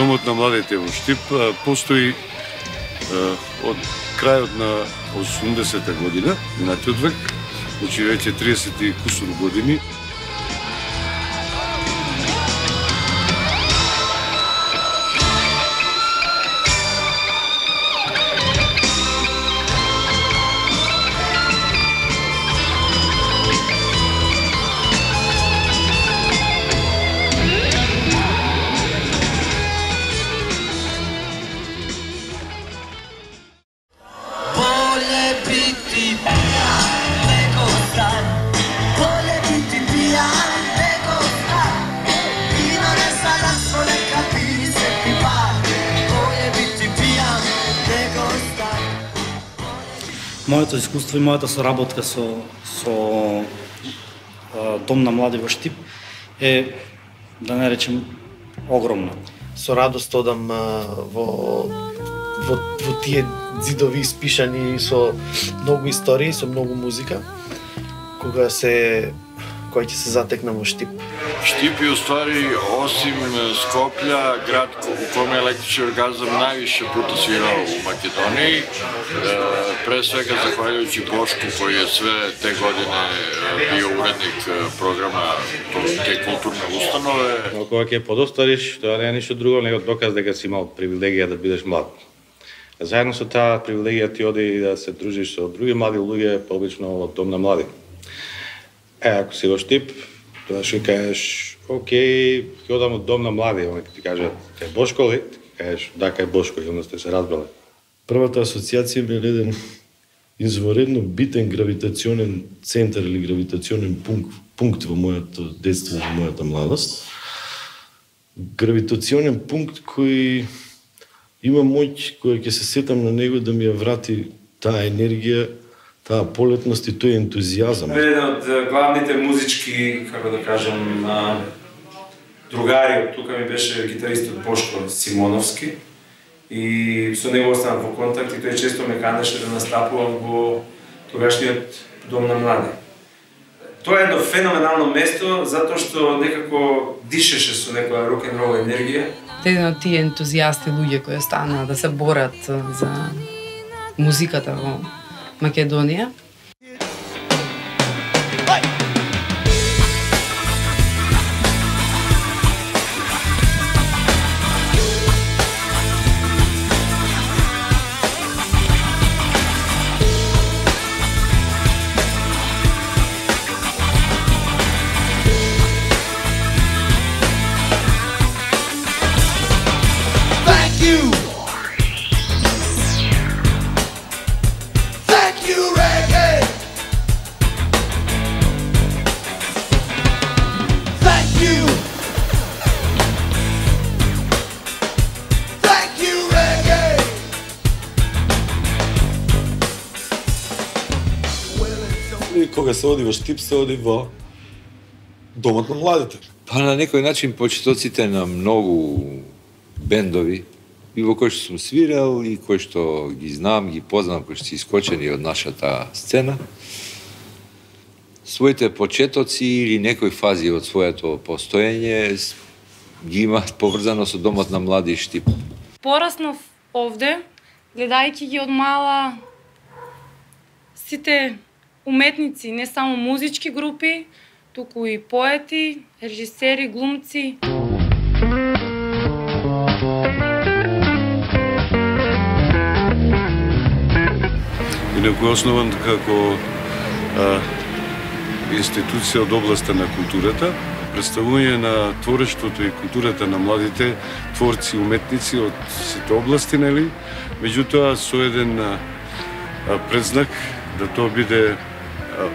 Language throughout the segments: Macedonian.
Домот на младите во Штип постои од крајот на 80-та година, минатиот век, значи веќе 30 и кусур години. Моето искуство и мојата соработка со Дом на млади во Штип е, да не речем, огромна. Со радост одам во тие ѕидови испишани со многу истории, со многу музика, која ќе се затекна во Штип. Штип е уствари, осим Скопја, град во коме електричен оргазам највише пута свирал у Македонија. Пред свега захвалjuјќи Бошку, кој е све те години био уредник програма те културни установе. Но кога ќе подостариш, тоа не е ништо друго него доказ дека си имал привилегија да бидеш млад. Заедно со таа привилегија ти оди да се дружиш со други млади луѓе, пообично од Дом на млади. Ако си во Штип, тоа ќе кажеш, окей, ќе одам од Дом на млади, оној ќе ти каже, кај Бошко ли? Ќе кажеш, да, кај Бошко, и onda сте се разбрале. Првата асоциација ми е еден изворедно битен гравитационен центар или гравитационен пункт во моето детство, во мојата младост. Гравитационен пункт кој има моќ, која ќе се сетам на него да ми ја врати таа енергија, таа полетност и тој ентузијазам. Еден од главните музички, како да кажам, другари, тука ми беше гитаристот Бошко Симоновски и со него останав во контакт и тој често ме канеше да настапувам во тогашниот Дом на млади. Тоа е едно феноменално место затоа што некако дишеше со некоја рок-н-рол енергија. Еден од тие ентузијасти луѓе кои станаа да се борат за музиката во Македонија. Кога се оди во Штип, се оди во Домот на младите. Па на некој начин почетоците на многу бендови, и во кои што сум свирал, и кои што ги знам, ги познам, кои што си искочени од нашата сцена, своите почетоци или некои фази од своето постоење ги имаат поврзано со Домот на млади Штип. Пораснав овде, гледајќи ги од мала сите уметници, не само музички групи, туку и поети, режисери, глумци. Инаку е основан како институција од областа на културата, представување на творештвото и културата на младите творци, уметници од сите области, нели? Меѓутоа со еден предзнак да тоа биде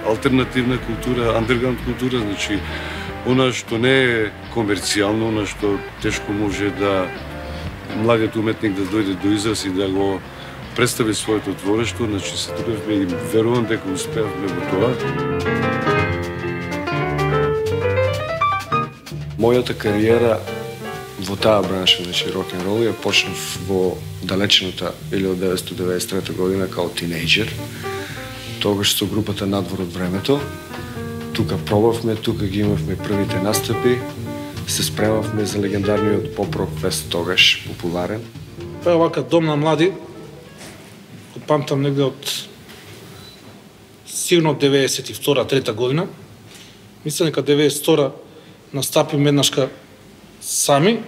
алтернативна култура, андерграунд култура, значи она што не е комерцијално, она што тешко може да младиот уметник да дојде до израз и да го представи своето творештво, значи се трудевме и верувам дека успеавме во тоа. Мојата кариера во таа бранша, значи рок-н-рол, ја почнав во далечната 1993 година као тинејџер. Тогаш со групата Надвор од времето. Тука пробавме, тука ги имавме првите настапи. се спремавме за легендарниот поп-рок фест тогаш, популарен. Па овака Дом на млади, памтам негде од сигурно 92-3 година. Мислам дека 92 настапим еднашка сами,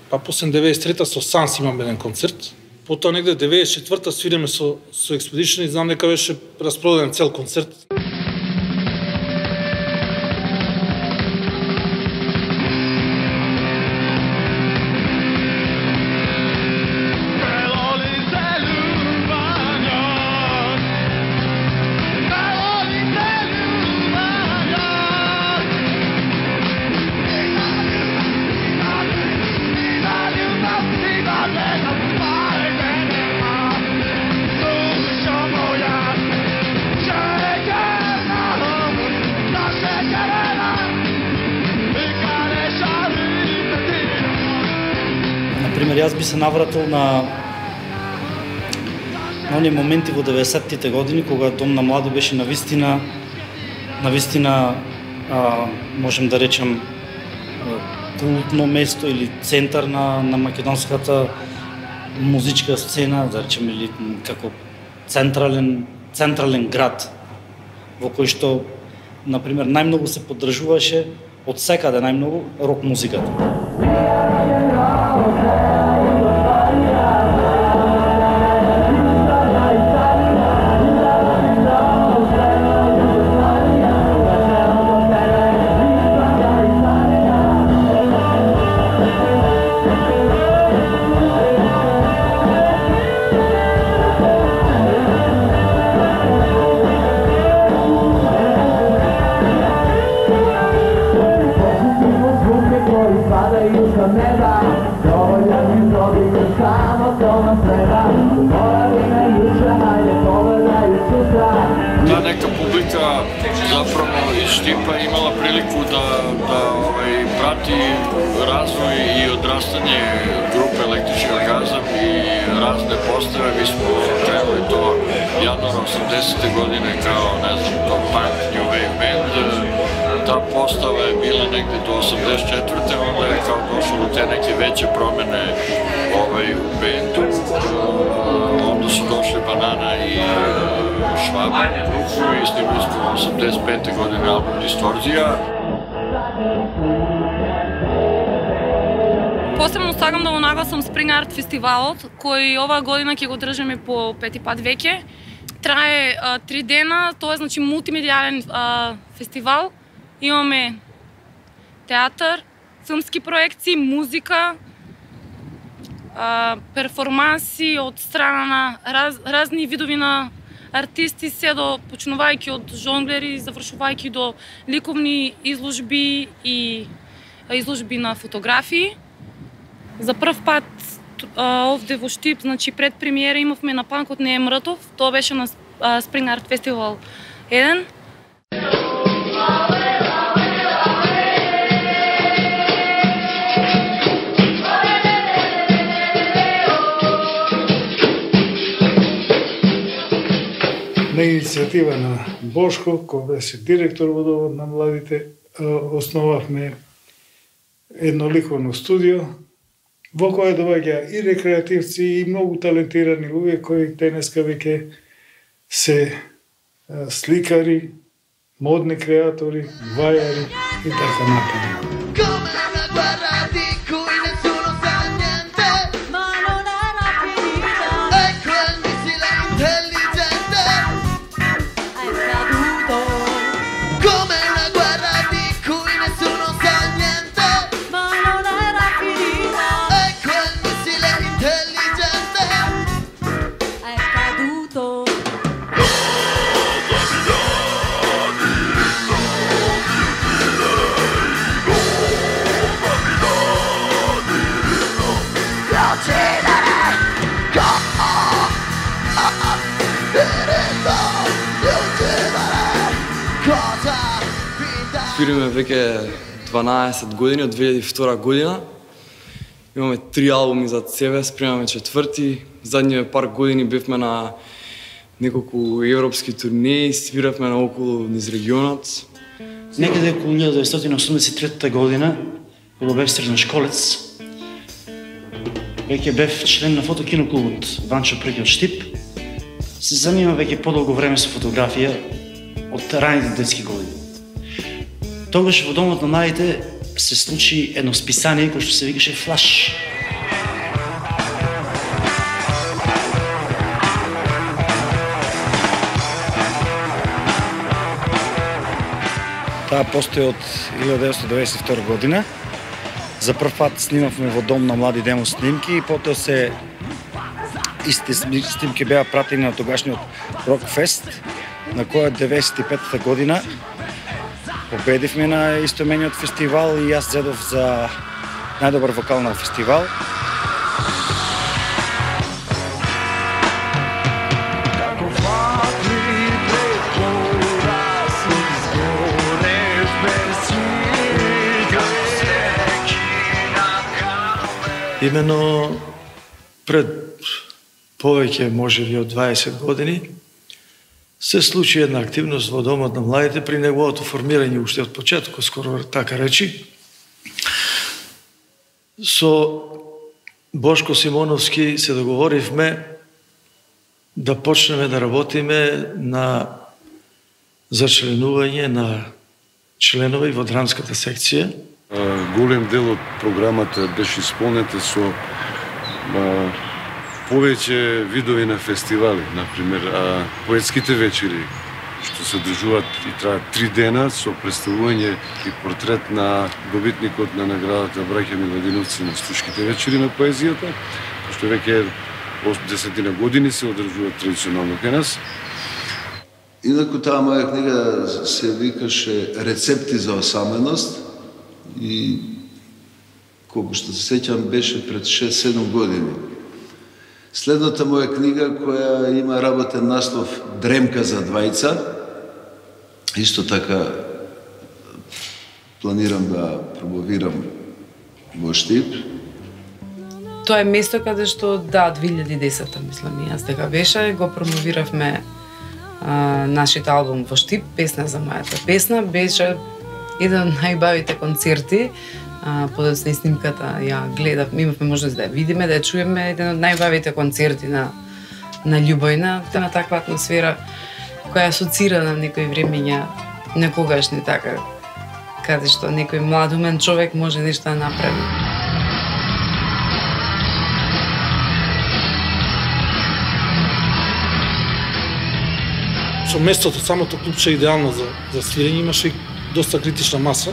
па после 93-та со Санс имаме еден концерт. Потоа негде 94-та свиреме со Expedition и знам дека беше распродаден цел концерт. Например, јас би се навратил на оние моменти во 90-тите години, кога Дом на млади беше навистина, можем да речем, култно место или центар на македонската музичка сцена, да речем, или како централен град, во кој што, например, најмногу се поддржуваше од секаде најмногу рок музиката. Та нека публика заправо из Штипа имала прилику да прати развој и одрастање групе Електрични оргазам и разне постави. Ви смо кренали до јануар 80-те години као, не знам, то панк, New Wave Band. Та постава е била негде до 84-те, онда е као дошло до те неке веќе промене у бенду. Onda su došli Banana i Švaba u grupu i snimili smo 85. godine album Distorzija. Посебно сакам да го нагласам Spring Art фестивалот, кој оваа година ќе го држиме по пети пат веќе. Трае 3 дена, тоа е значи мултимедијален фестивал. Имаме театар, филмски проекции, музика, перформанси од страна на разни видови на артисти, се до почнувајќи од жонглери, завршувајќи до ликовни изложби и изложби на фотографии. За прв пат овде во Штип, значи пред премиера имавме на Панкот не е мртов, тоа беше на Spring Art Festival 1. На иницијатива на Бошко, кој беше директор во Домот на младите, основавме едно ликовно студио, во кое доаѓа и рекреативци и многу талентирани луѓе кои денеска веќе се сликари, модни креатори, вајари и така натаму. Свириме веќе 12 години, од 2002 година. Имаме 3 албуми зад себе, спремаме 4-ти. Задниве пар години бевме на неколку европски турнеи, свиравме наоколу низ регионот. Некаде околу 1983 година кога бев средношколец, веќе бев член на фотокиноклубот Ванчо Преки од Штип. Се занимав веќе подолго време со фотографија од раните детски години. Тогаш во Домот на младите се случи едно списание кој што се викаше Флаш. Таа постои од 1992 година. За прв пат снимавме во Дом на млади демо снимки и потоа исти снимки беа пратени на тогашниот Рокфест, на која 95-та година победивме на истоимениот фестивал и јас зедов за најдобар вокал на фестивал. Имено пред повеќе, можеби од 20 години, се случи една активност во Домот на младите при неговото формирање уште од почетокот, скоро така речи. Со Бошко Симоновски се договоривме да почнеме да работиме на зачленување на членови во драмската секција. Голем дел од програмата беше исполнета со повеќе видови на фестивали, например, поетските вечери, што се одржуваат и траат 3 дена со представување и портрет на добитникот на наградата Браќа Миладиновци на Стушките вечери на поезијата, што веќе 10 години се одржуваат традиционално кај нас. Инаку таа моја книга се викаше Рецепти за осаменост и колку што се сеќам беше пред 6-7 години. Следната моја книга која има работен наслов Дремка за двајца, исто така планирам да промовирам во Штип. Тоа е место каде што 2010-та мислам и јас дека беше, го промовиравме нашиот албум во Штип, Песна за мојата песна, беше еден од најбавите концерти. Подоцна и снимката ја гледав, имавме можност да ја видиме, да ја чуеме, еден од најбавите концерти на љубовна, на таква атмосфера која асоцира на некои времења некогашни така, каде што некој млад умен човек може нешто да направи. Со местото, самото клубче е идеално за свирење, имаше и доста критична маса.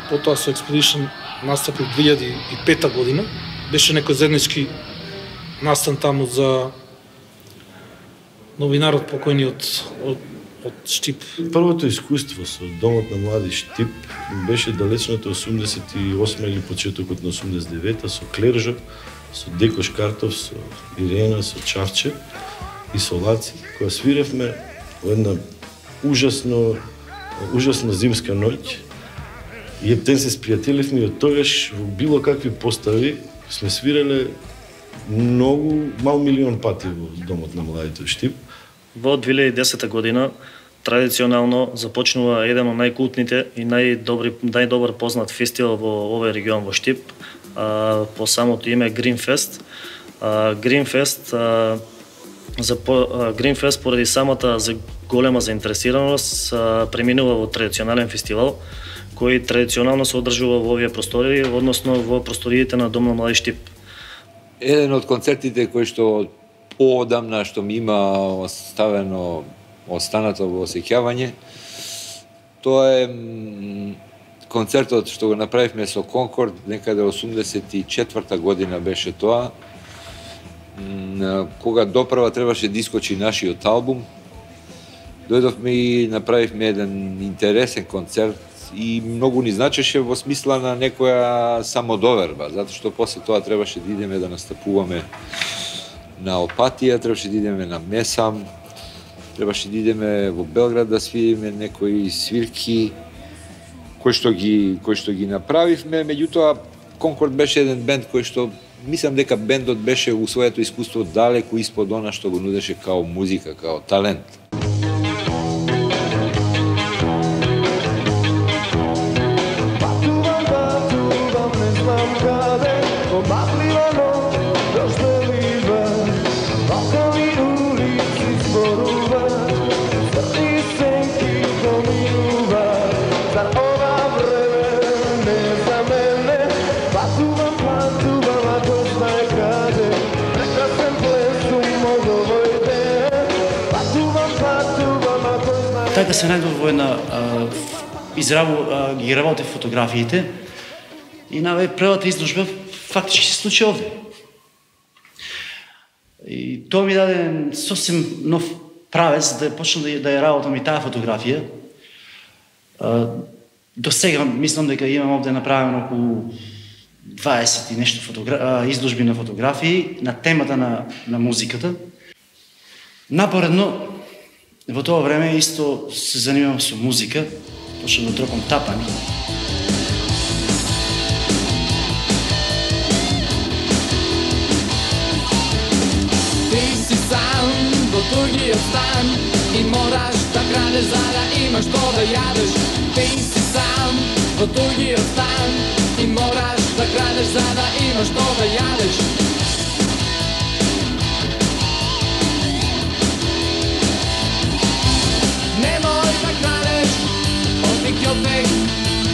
Потоа со Expedition настапи во 2005 година. Беше некој заеднички настан таму за новинарот покојни од Штип. Првото искуство со Домот на млади Штип беше далечното 88 или почетокот на 89-та со Клержо, со Деко Шкартов, со Ирена, со Чавче и со Лаци, која свиревме во една ужасна зимска ноќ. И ептен се спријателивме и од тогаш во било какви постави сме свирале многу, мал милион пати во Домот на младите Штип. Во 2010 година традиционално започнува еден од најкултните и најдобар познат фестивал во овој регион во Штип, по самото име Greenfest. Greenfest поради самата голема заинтересираност преминува во традиционален фестивал кој традиционално се одржува во овие простори, односно во просториите на Дом на млади Штип. Еден од концертите кој што поодамна што ми има останато во осеќавање, тоа е концертот што го направивме со Конкорд, некаде 84-та година беше тоа, кога допрва требаше да искочи нашиот албум. Дојдовме и направивме еден интересен концерт и многу ни значеше во смисла на некоја самодоверба, затоа што после тоа требаше да идеме да настапуваме на Опатија, требаше да идеме на Месам, требаше да идеме во Белград да свириме некои свирки кои што ги направивме. Меѓутоа Конкорд беше еден бенд кој што мислам дека бендот беше у своето искуство далеку испод она што го нудеше као музика, као талент. така се најдов во една ги работев фотографиите и на првата изложба фактички се случи овде. И тоа ми даде сосем нов правец да почнам да ја работам и таа фотографија. До сега мислам дека имам овде направено околу 20 и нешто изложби на фотографии на темата на музиката. Напоредно, во тоа време исто се занимавам со музика, почнам да тропам тапани. Ти си сам во тугиот стан и мораш да крадеш за да имаш што да јадеш. Ти си сам во тугиот стан и мораш да крадеш за да имаш што да јадеш. Немој да крадеш, од никјот век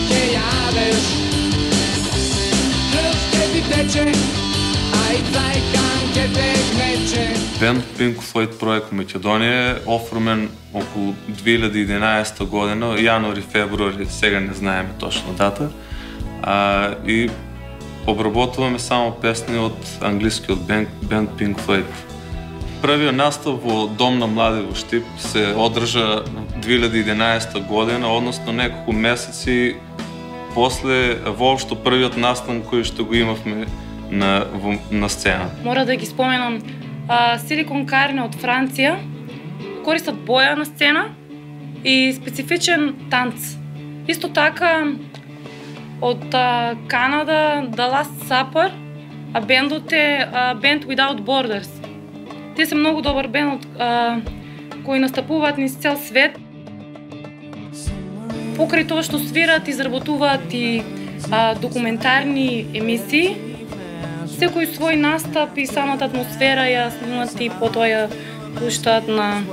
ќе јадеш. Крв ќе ти тече, а и цајкан ќе те гнече. Бенд Pink Floyd проект Македонија е оформен околу 2011 година, јануари, февруари, сега не знаеме точно дата, и обработуваме само песни од англискиот бенд Pink Floyd. Првиот настап во Дом на млади во Штип се одржа 2011 година, односно неколку месеци после воопшто првиот настан кој што го имавме на сцена. Мора да ги споменам Силикон Карне од Франција, користат боја на сцена и специфичен танц. Исто така од Канада The Last Supper, а бендот е Band Without Borders. Тие се многу добар бенд кои настапуваат низ цел свет. Покрај тоа што свират, изработуваат и документарни емисии. Секој свој настап и самата атмосфера ја снимат и потоа ја пуштаат на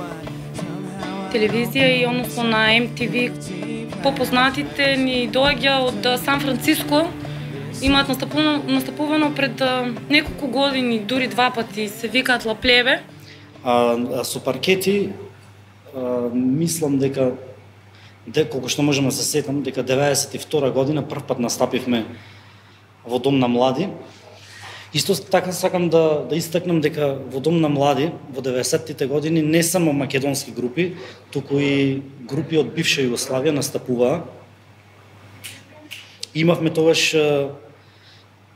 телевизија и односно на MTV. Попознатите ни доаѓа од Сан Франциско, имаат настапувано пред неколку години, дури два пати, се викаат Ла Плебе. Со паркети, мислам дека колку што можам да се сетам, дека 92 година прв пат настапивме во Дом на млади. Исто така сакам да истакнам дека во Дом на млади во 90-тите години не само македонски групи, туку и групи од бивша Југославија настапуваа. Имавме тогаш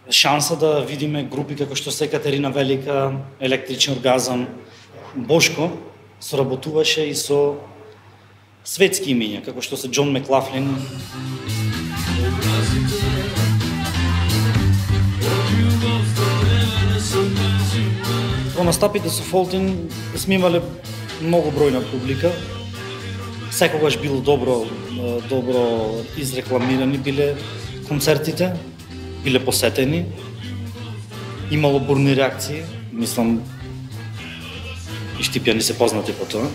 шанса да видиме групи како што се Екатерина Велика, Електричен оргазам. Бошко соработуваше и со светски имиња, како што се Џон Маклафлин. Во настапите со Фолтин сме имале многу бројна публика. Секогаш било добро изрекламирани биле концертите, биле посетени. Имало бурни реакции, мислам и штипјани се познати по тоа.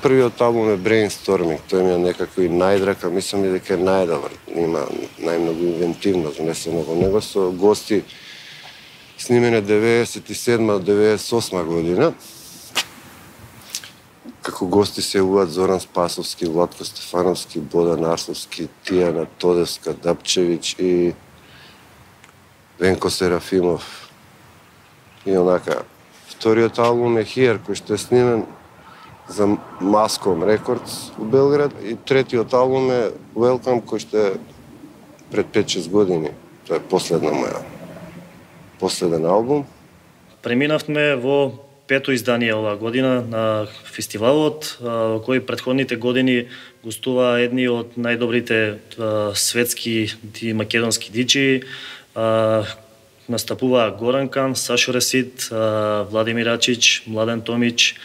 Првиот албум е Brainstorming, тој ми е некако и најдрака, мислам и дека е најдобар, има најмногу инвентивност внесено во него, со гости снимене 97-98 година. Како гости се јавуваат Зоран Спасовски, Владко Стефановски, Бодан Арсловски, Тијана Тодевска, Дапчевиќ и Венко Серафимов. И онака, вториот албум е Here, кој што е снимен за Маском Рекордс у Белград, и третиот албум е Welcome, кој што е пред 5-6 години. Тоа е последен албум. Преминавме во пето издание оваа година на фестивалот, во кој претходните години гостуваа едни од најдобрите светски и македонски диџеи. Настапуваа Горан Кан, Сашо Ресид, Владимир Ачич, Младен Томич.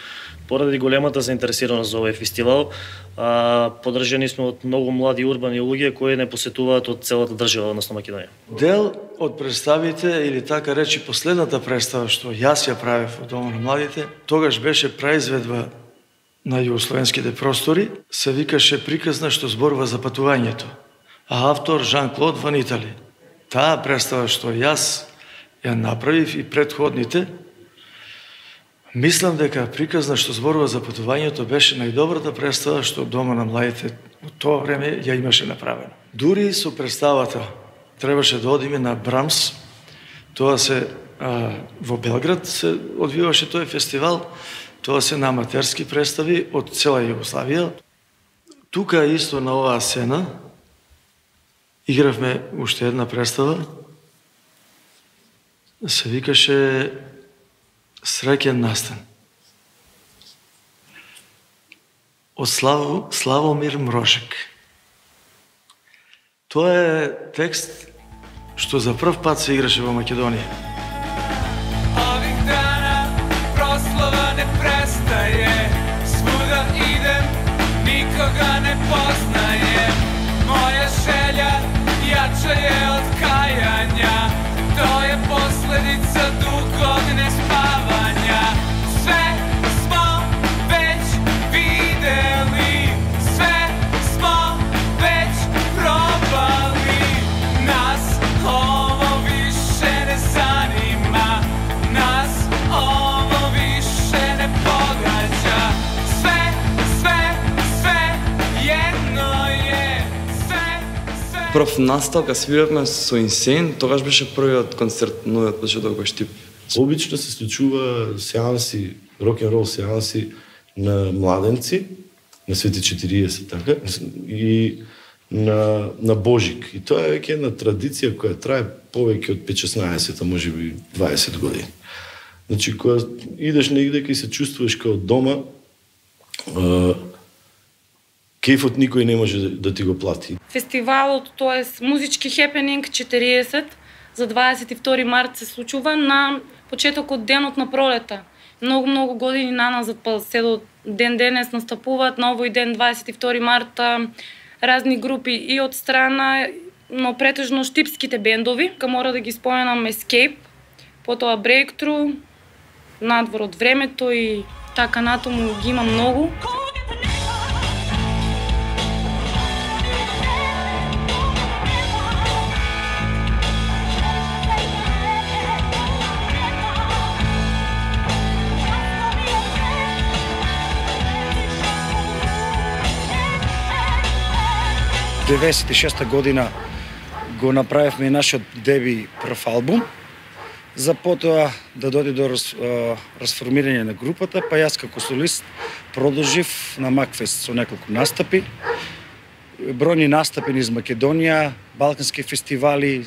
Поради големата заинтересираност за овој фестивал, поддржани сме од многу млади урбани луѓе кои не посетуваат од целата држава, односно Македонија. Дел од представите, или така речи последната представа што јас ја правев во Домот на младите, тогаш беше произведба на југословенските простори, се викаше приказна што зборува за патувањето. А автор Жан-Клод Ван Итали. Таа представа што јас ја направив и предходните, мислам дека приказна што зборува за патувањето беше најдобрата представа што Дома на младите во тоа време ја имаше направено. Дури со представата требаше да одиме на Брамс, тоа се во Белград се одвиваше тој фестивал, тоа се на аматерски представи од цела Југославија. Тука исто на оваа сцена игравме уште една представа, се викаше Среќен настан. Од Славомир Мрошек. Тоа е текст што за прв пат се играше во Македонија. Ovih dana proslava ne prestaje, svuda idem, nikoga ne poznajem. Moja želja jača je od kajanja, to je posledica dugog nespavanja. Sve smo već videli, sve smo već probali, nas ovo više ne zanima, nas ovo više ne pogađa. Sve jedno je, sve. Прв настав, кога свиравме со Инсейн, тогаш беше првиот концерт новиот почеток во Штип. Обично се случува сеанси, рок-н-рол сеанси на младенци, на Свети 40, така, и на Божик. И тоа е веќе една традиција која трае повеќе од 5-16, може би 20 години. Значи, кога идеш негде и се чувствуваш као дома, кејфот никој не може да ти го плати. Фестивалот, тоест музички хепенинг 40 за 22 март се случува на почетокот денот на пролета. Многу години наназад, па се до ден денес настапуваат на овој ден 22 марта разни групи и од страна, но претежно штипските бендови. Мора да ги споменам Escape, потоа Breakthrough, Надвор од времето и така натаму ги има многу. В 96-та година го направивме нашиот деби прв албум, за потоа да дојде до расформирање на групата, па јас како солист продолжив на Макфест со неколку настапи, бројни настапи низ Македонија, балкански фестивали,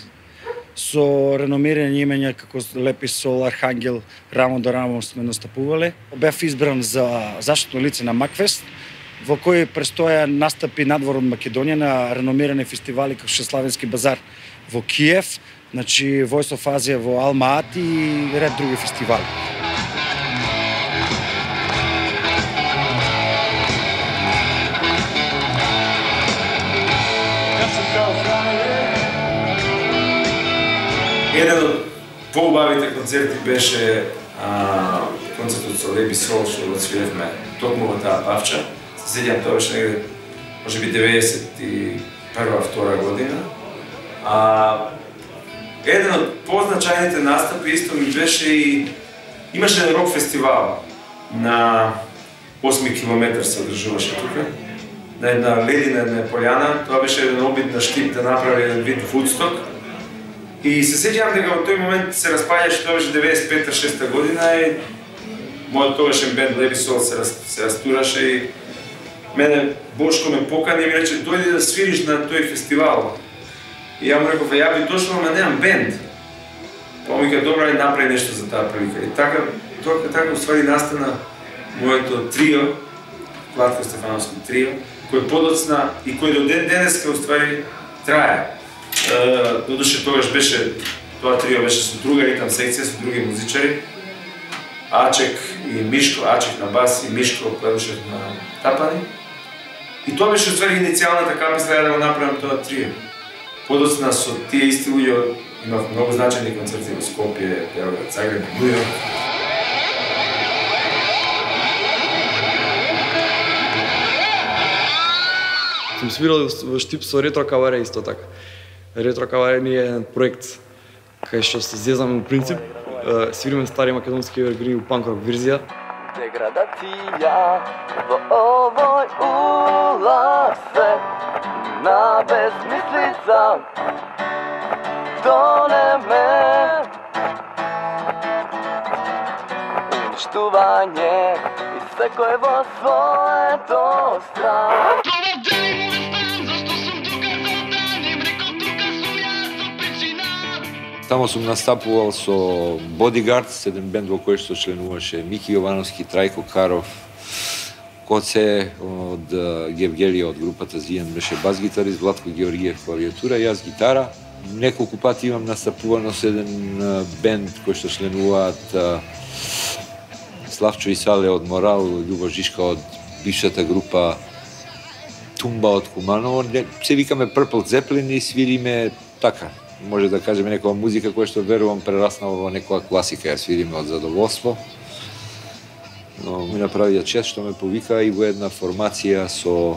со реномирани имења како Лепи Сол, Архангел, рамо до рамо сме настапувале. Бев избран за заштитно лице на Макфест, во кој престоја настапи надвор од Македонија на реномирани фестивали како Славенски базар во Киев, значи Voice of Asia во Алма-Ати и ред други фестивали. Еден од поубавите концерти беше концертот со Лепи Сол, што го свиревме токму во таа павча. Се сеќам, тоа беше негде, може би 91-2 година. Еден од позначајните настапи исто ми беше и имаше еден рок фестивал на 8 километар се одржуваше тука, на една ледина, една пољана. Тоа беше еден обид на Штип да направи еден вид Вудсток. И се сеќам дека во тој момент се распаѓаше, тоа беше 95-6 година и мојот тогашен бенд Лепи Сол се растураше и мене Бошко ме покани и ми рече дојди да свириш на тој фестивал. И ја му реков, ја би дошла, ама немам бенд. Па ми ка добра, направи нешто за таа прилика. И така уствари настана моето трио, Клатко Стефановско трио, кој подоцна и кој до ден денеска уствари трае. Додуше тогаш беше, тоа трио беше со друга ритам секција, со други музичари. Ачек и Мишко, Ачек на бас и Мишко Плевушев на тапани. И тоа беше уствари иницијалната каписла да го направам тоа трио. Подоцна со тие исти луѓе имав многу значајни концерти во Скопје, Белград, Загреб, Њујорк. сум свирал во Штип со Ретро Каваре исто така. Ретро Каваре ни е еден проект кај што се зезаме во принцип, свириме стари македонски евергрини у панк рок верзија. Деградација во овој улак свет на безмислица тонеме, уништување и секој во своето стран. Тамо сум настапувал со Bodyguards, еден бенд во кој што членуваше Мики Јовановски, Трајко Каров, Коце од Гевгелија од групата Зијан беше бас-гитарист, Владко Георгиев клавиатура, јас гитара. Неколку пати имам настапувано со еден бенд кој што членуваат Славчо и Сале од Морал, Љубо Жишка од бившата група Тумба од Куманово. Се викаме Purple Zeppelin и свириме така. Може да кажеме некоја музика која што верувам прераснала во некоја класика, ја свириме од задоволство. Но ми направија чест што ме повика и во една формација со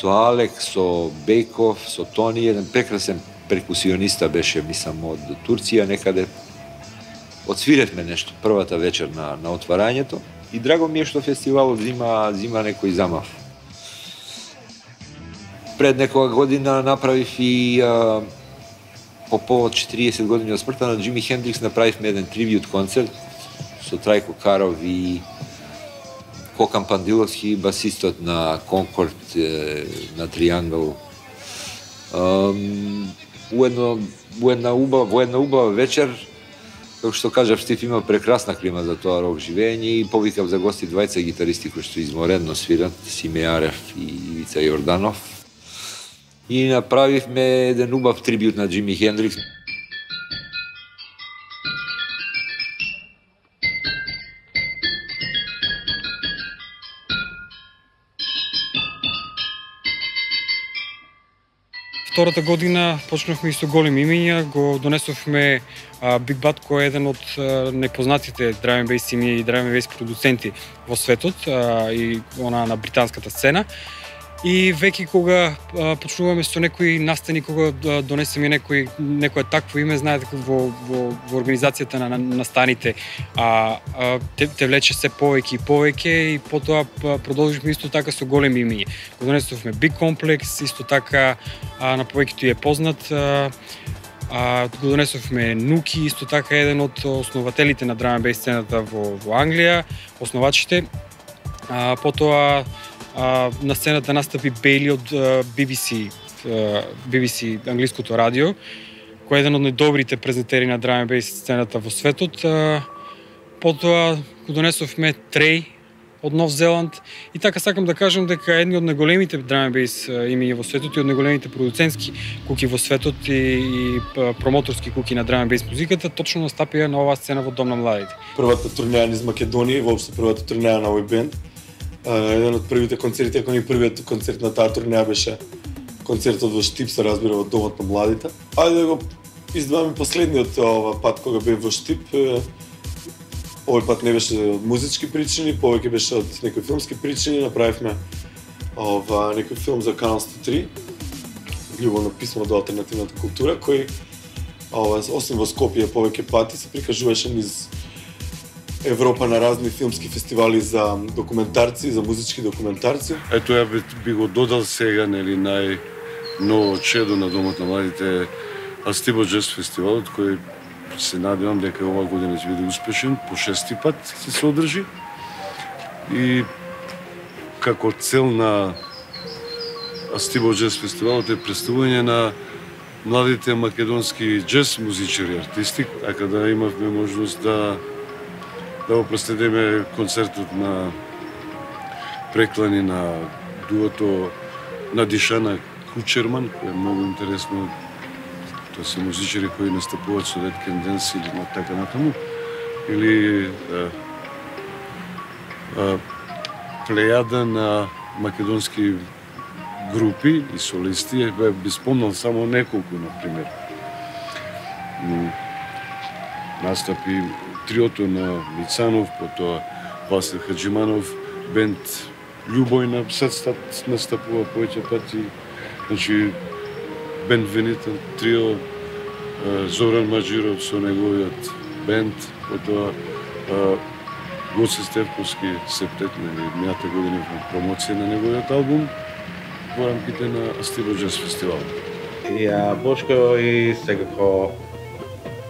Алек, со Бејков, со Тони, еден прекрасен перкусиониста беше, мислам, од Турција некаде. Отсвиретме нешто првата вечер на отварањето и драго ми е што фестивалот зима некој замав. Пред некоја година направив и по повод 40 години од смртта на Џими Хендрикс направивме еден трибјут концерт со Трајко Каров и Кокан Пандиловски, басистот на Конкорд, на Триангл. Во една убава вечер, како што кажав, Штип има прекрасна клима за тоа рок живење и повикав за гости двајца гитаристи кои што изморедно свират, Симе Арев и Ивица Јорданов. И направивме еден убав трибјут на Џими Хендрикс. Втората година почнавме и со големи имиња, го донесовме Биг Бат кој е еден од непознатите драм енд бейс имиња и драм енд бейс продуценти во светот и она на британската сцена. И веќе кога почнуваме со некои настани, кога донесеме некое такво име, знаете во организацијата на настаните те влече се повеќе и повеќе и потоа продолживме исто така со големи имиња. Го донесовме Big Complex, исто така на повеќето е познат. Го донесовме Нуки, исто така еден од основателите на драм енд бейс сцената во Англија, основачите. Потоа на сцената настапи Бейли од BBC англиското радио, кој е еден од најдобрите презентери на драм енд бейс сцената во светот. Потоа го донесовме Трей од Нов Зеланд и така сакам да кажам дека едни од најголемите драм енд бейс имиња во светот и од најголемите продуцентски куки во светот и промоторски куки на драм енд бейс музиката точно настапија на оваа сцена во Дом на младите. Првата турнеја низ Македонија, воопшто првата турнеја на овој бенд. Еден од првите концерти, ако не првиот концерт на таа турнеја беше концертот во Штип, се разбира, во Домот на младите. Ајде да го издвоиме последниот пат кога бев во Штип. Овој пат не беше од музички причини, повеќе беше од некои филмски причини. Направивме некој филм за Канал 103, љубовно писмо до алтернативната култура, кој освен во Скопје повеќе пати се прикажуваше низ Европа на разни филмски фестивали за документарци, за музички документарци. Ето ја би го додал сега, нели, најново чедо на Домот на младите Астибо Джез фестивалот, кој се надевам дека оваа година ќе биде успешен, по 6-ти пат се одржи. И како цел на Астибо Джез фестивалот е представување на младите македонски джез музичари, артисти, така да имавме можност да го проследиме концертот на преклани на дуото на Дишана Кучерман, кој е многу интересно. Тоа се музичари кои настапуваат со Dead Can Dance или на така натаму. Или плејада на македонски групи и солисти, би спомнал само неколку, например. Настапи триото на Мицанов, потоа Васил Хаджиманов, бенд Љубој на Садстат настапува повеќе пати. Значи, бенд Венетан трио, Зоран Маџиров со неговиот бенд, потоа Гоце Стевковски септет, мината година во промоција на неговиот албум во рамките на Астило Джаз фестивал. И Бошко и секако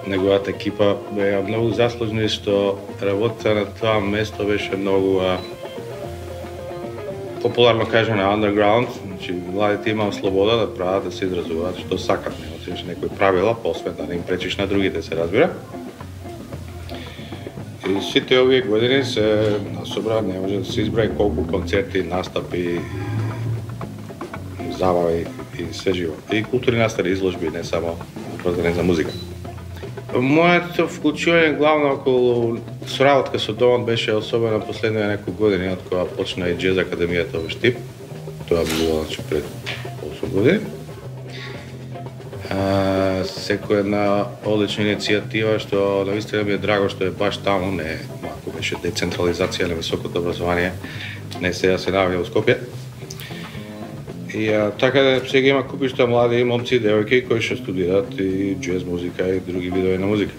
неговата екипа беа многу заслужни што работата на тоа место беше многу популарно кажано underground, значи младите имаа слобода да прават, да се изразуваат што сакат, немаше некои правила, посвен да не им пречиш на другите, се разбира. И сите овие години се насобра, не може да се изброи колку концерти, настапи, забави и се живо. И културни настани, изложби, не само врзани за музика. Моето вклучување главно околу соработка со Домот беше особено последните неколку години од кога почна и Джез Академијата во Штип. Тоа било пред 8 години. Секоја една одлична иницијатива што навистина ми е драго што е баш таму, не малку беше децентрализација на високото образование, не сега се наоѓа во Скопје. И така сега има купишта млади момци и девојки кои што студираат и джез музика и други видови на музика.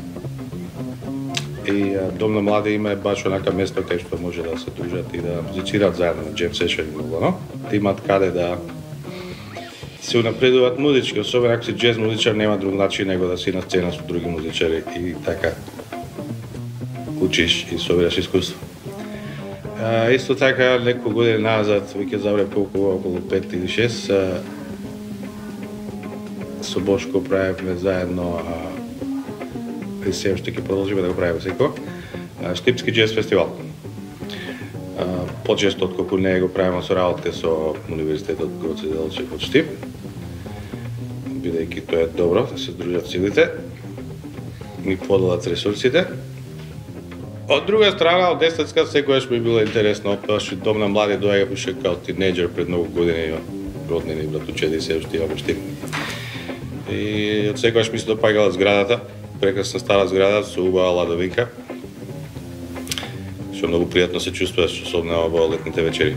И Дом на млади има баш онака место кај што може да се дружат и да музицираат заедно на джем сешн и многу, да имаат каде да се унапредуваат музички, особено ако си джез музичар, нема друг начин него да си на сцена со други музичари и така учиш и собираш искуство. Исто така, неколку години назад, веќе забре околу 5 или 6, со Бошко правевме заедно, и се уште ќе продолжиме да го правиме секој, Штипски джез фестивал. Почесто отколку не го правиме со работите со Универзитетот Гоце Делчев од Штип, бидејќи тоа е добро да се дружат силите и поделат ресурсите. Од друга страна, од естетска, секојаш би било интересно, пошто Дом на млади доаѓа уште као тинејџер пред многу години, роднини, братучеди, се уште имаме Штип. И од секојаш ми се допаѓала зградата, прекрасна стара зграда со убава ладовинка, што многу пријатно се чувствуваш, особено во летните вечери.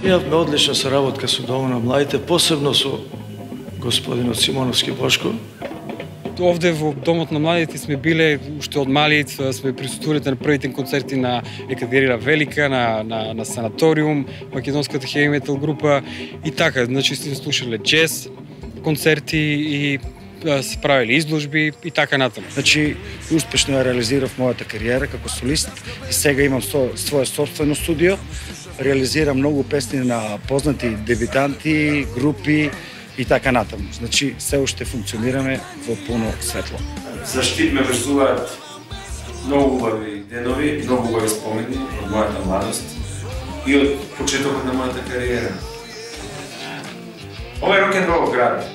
Имавме одлична соработка со Домот на младите, посебно со господинот Симоновски Бошко. Овде во Домот на младите сме биле уште од малиот, сме присуствувале на првите концерти на Екатерина Велика, на Санаториум, македонската хеви метал група и така, значи сме слушале джез концерти и се правили изложби и така натаму. Значи, успешно ја реализирав мојата кариера како солист и сега имам свое собствено студио. Реализирам многу песни на познати дебитанти, групи и така натаму. Значи, се уште функционираме во пуно светло. За Штип ме врзуваат многу убави денови, многу убави спомени од мојата младост и од почетокот на мојата кариера. Ова е рок-н-рол град.